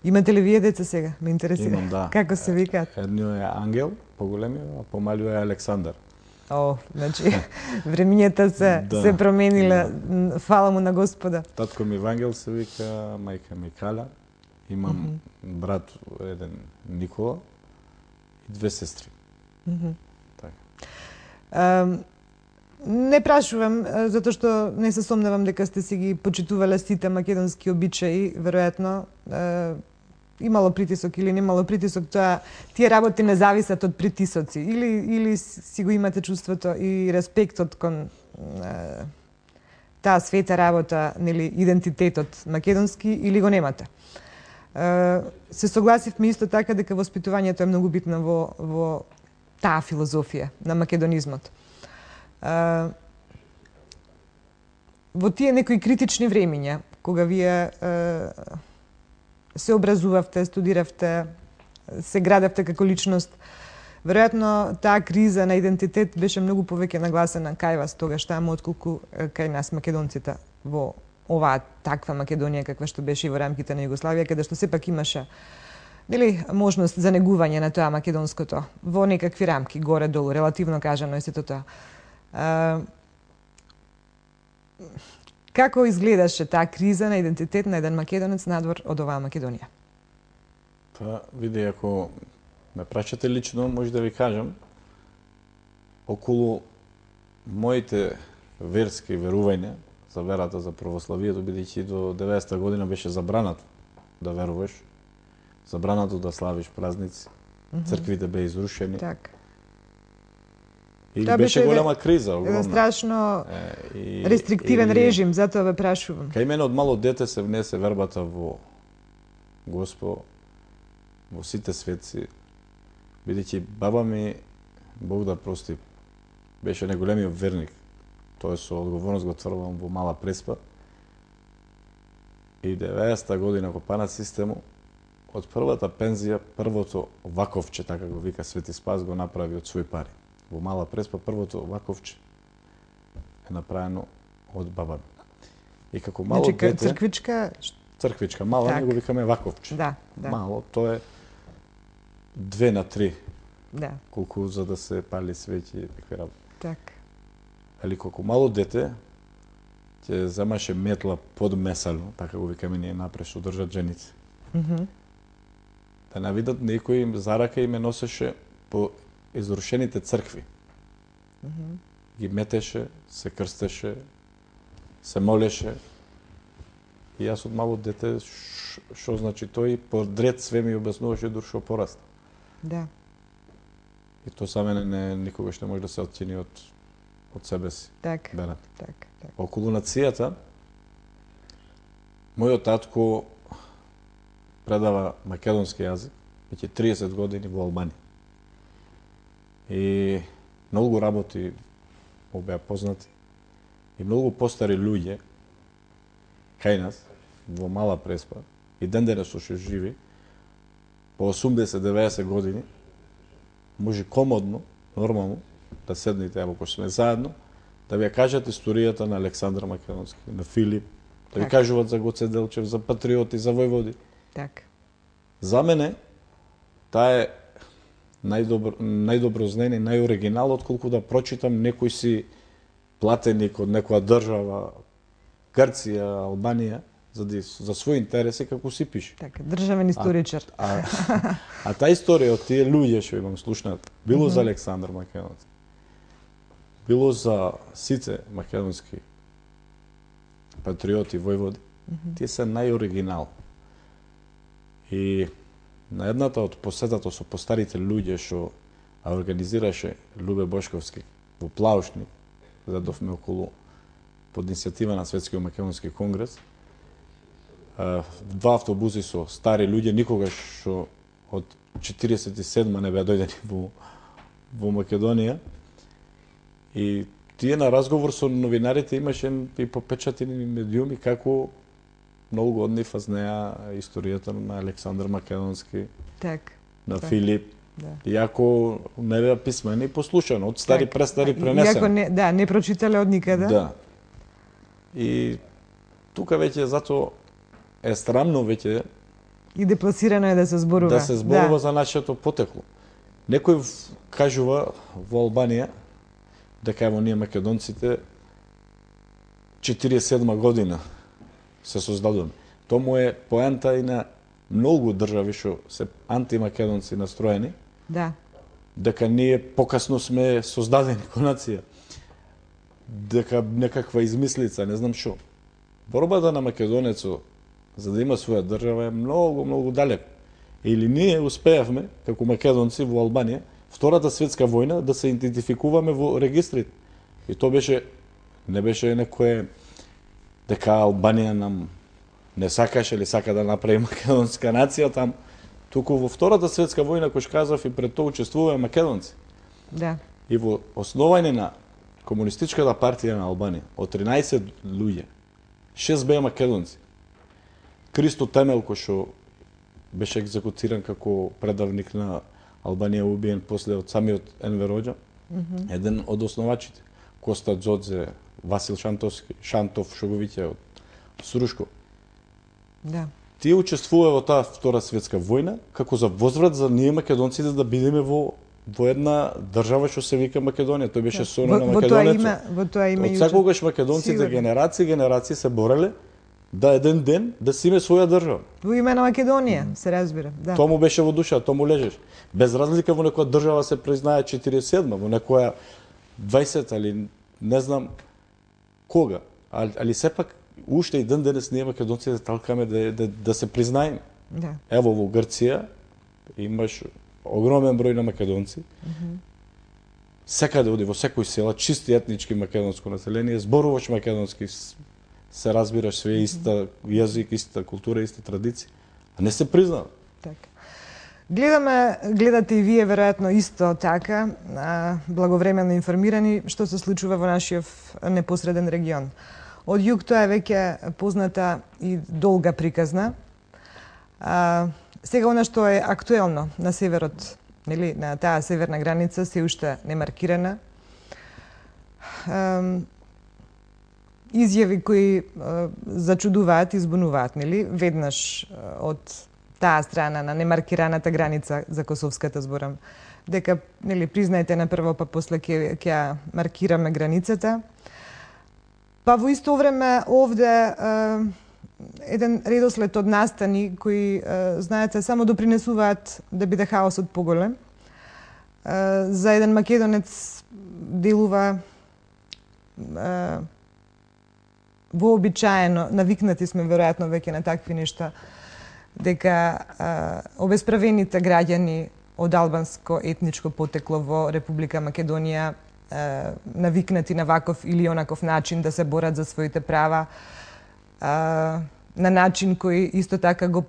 Имате ли вие деца сега? Ме интересира. Имам, да. Како се викаат? Едно е Ангел, поголемиот, а помалиот е Александар. О, значи времињата се променила, фала му на Господа. Татко ми Вангел се вика, мајка ми Каля. Имам брат еден Никола и две сестри. Така. Не прашувам, затоа што не се сомневам дека сте си ги почитувале сите македонски обичаи, веројатно имало притисок или немало притисок, тие работи не зависат од притисоци, или си го имате чувството и респектот кон таа света работа, нели, идентитетот македонски, или го немате. Се согласивме исто така дека воспитувањето е многу битно во таа филозофија на македонизмот. Во тие некои критични времиња, кога вие се образувавте, студиравте, се градевте како личност, веројатно таа криза на идентитет беше многу повеќе нагласена кај вас тогаш таму, отколку кај нас македонците во оваа таква Македонија каква што беше и во рамките на Југославија, каде што сепак имаше, нели, можност за негување на тоа македонското во некакви рамки, горе-долу, релативно кажано е сето тоа. Како изгледаше таа криза на идентитет на еден македонец надвор од оваа Македонија? Па, види, ако ме прашате лично, може да ви кажам, околу моите верски верувања за верата за православието, бидејќи до 90-та година беше забрането да веруваш, забрането да славиш празници, црквите беа изрушени. Так. И беше голема криза, огромна. Еден страшно рестриктивен режим, затоа ве прашувам. Кај мене од мало дете се внесе вербата во Господ, во сите светци, бидејќи баба ми, Бог да прости, беше најголемиот верник. Тоа со одговорност го тврдам во Мала Преспа. И 90-та година во ПАНА систему, од првата пензија, првото ваковче, така го вика Свети Спас, го направи од свој пари. Во Мала Преспа првото ваковче е направено од баба ми. И како мало дете... Црквичка... Црквичка, мала, не го викаме ваковче. Да, да. Мало, тоа е 2/3. Да. Колку за да се пали свеќи и такви работи. Так. Али колку мало дете, ќе земаше метла под месално, така го викаме ние напред, што држат женици. Да навидат некој за рака и ме носеше по изрушените цркви. Ги метеше, се крстеше, се молеше. И јас од мало дете, што значи тој, подред све ми обяснуваше дур што пораста. Да. И тоа за мене никогаш не може да се отчини од себе си. Так. Так. Околу нацијата, мојот татко предава македонски јазик, веќе 30 години во Албанија. И многу работи му беа познати. И многу постари луѓе кај нас, во Мала Преспа, и ден денес што живи, по 80-90 години, може комодно, нормално, да седнете, ако сме заедно, да ви ја кажат историјата на Александар Македонски, на Филип, да ви кажуват за Гоце Делчев, за патриоти, за војводи. Так. За мене, таа е најдобро знаење, најоригинал, отколку да прочитам некој си платеник од некоја држава, Грција, Албанија, за своји интереси, како си пише. Така, државен историчар. А таа историја од тие луѓе што имам слушнат, било за Александар Македонски, било за сите македонски патриоти, војводи, тие се најоригинал. И на едната од посетата со постарите луѓе што организираше Любе Бошковски во Плаушник, задовме околу под иницијатива на Светскиот македонски конгрес, два автобуси со стари луѓе, никогаш што од 47 не беа дојдени во Македонија. И тие на разговор со новинарите имаше и попечатени медиуми како многу од нив знаеа историјата на Александар Македонски, так, на Филип. Да. Иако не беа писмени и послушано, од стари престари пренесено. Иако не прочитале од никаде. Да. И тука веќе затоа е срамно веќе И депласирано е да се зборува. Да се зборува за нашето потекло. Некој кажува во Албанија дека ево ние македонците 47 година се создадуваме. Тому е поента и на многу држави што се антимакедонци настроени. Да. Дека ние покасно сме создадени ко нација. Дека некаква измислица, не знам што. Борбата на македонецот за да има своја држава е многу далеко. Или ние успеавме како македонци во Албанија Втората светска војна да се идентификуваме во регистрите. И тоа не беше некое дека Албанија нам не сакаше или сака да направи македонска нација там, туку во Втората светска војна, кој што кажав, и пред тоа учествуваа македонци. Да. И во основање на Комунистичката партија на Албанија, од 13 луѓе, 6 беа македонци. Кристо Темел, кој што беше екзекутиран како предавник на Албанија, убиен после од самиот Енвер Хоџа, еден од основачите. Коста Џодзе, Васил Шантов, што го виќе од Срушко. Да. Тие учествуваа во таа Втора светска војна како за возврат за ние македонците да бидеме во една држава што се вика Македонија. Тој беше соно на македонецот. Во тоа име од секогаш македонците генерации се бореле да еден ден да си име своја држава. Во име на Македонија, се разбира, да. Тоа му беше во душа, тоа му лежеше. Без разлика во некоја држава се признае 47, во некоја 20 или не знам кога. Али сепак уште и ден денес ние македонците талкаме да се признаеме. Да. Ево во Грција имаш огромен број на македонци. Секаде оди во секој села, чисти етнички македонско население, зборуваш македонски, се разбираш све иста јазик, иста култура, иста традиција, а не се признава. Така. Гледате и вие веројатно исто така, благовремено информирани што се случува во нашиот непосреден регион. Од југ тоа е веќе позната и долга приказна. Сега она што е актуелно на северот, нели, на таа северна граница се уште не маркирана. Изјави кои зачудуваат и збунуваат, нели, веднаш од таа страна на немаркираната граница за Косовската зборам, дека, нели, признаете на прво, па после ќе маркираме границата. Па во исто време овде еден редослед од настани кои, знаете, само допринесуваат да биде хаосот поголем. За еден македонец делува вообичаено, навикнати сме веројатно веќе на такви нешта, дека обесправените граѓани од албанско етничко потекло во Република Македонија навикнати на ваков или онаков начин да се борат за своите права, на начин кој исто така го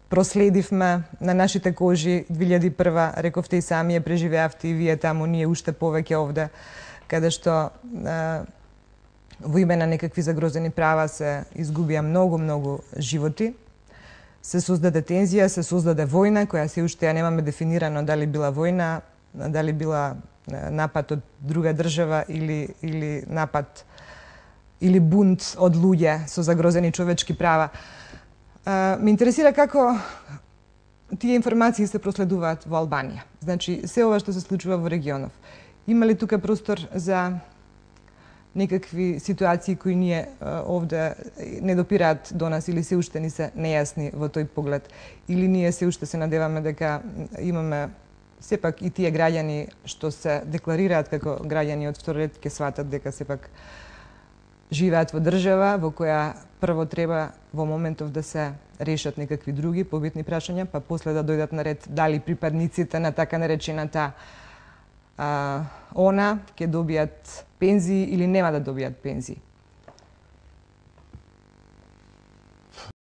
проследивме на нашите кожи 2001, рековте и сами ја преживеавте и вие таму, ние уште повеќе овде, каде што во име на некакви загрозени права се изгубија многу животи. Се создаде тензија, се создаде војна, која се уште ја немаме дефинирано дали била војна, дали била напад од друга држава или напад или бунт од луѓе со загрозени човечки права. Ме интересира како тие информации се проследуваат во Албанија. Значи, се ова што се случува во регионов. Има ли тука простор за некакви ситуации кои ние овде не допираат до нас или се уште ни се нејасни во тој поглед? Или ние се уште се надеваме дека имаме сепак и тие граѓани што се декларираат како граѓани од втор ред ќе сватат дека сепак живеат во држава во која прво треба во моментов да се решат некакви други побитни прашања, па после да дојдат на ред дали припадниците на така наречената она ќе добијат пензии или нема да добијат пензии.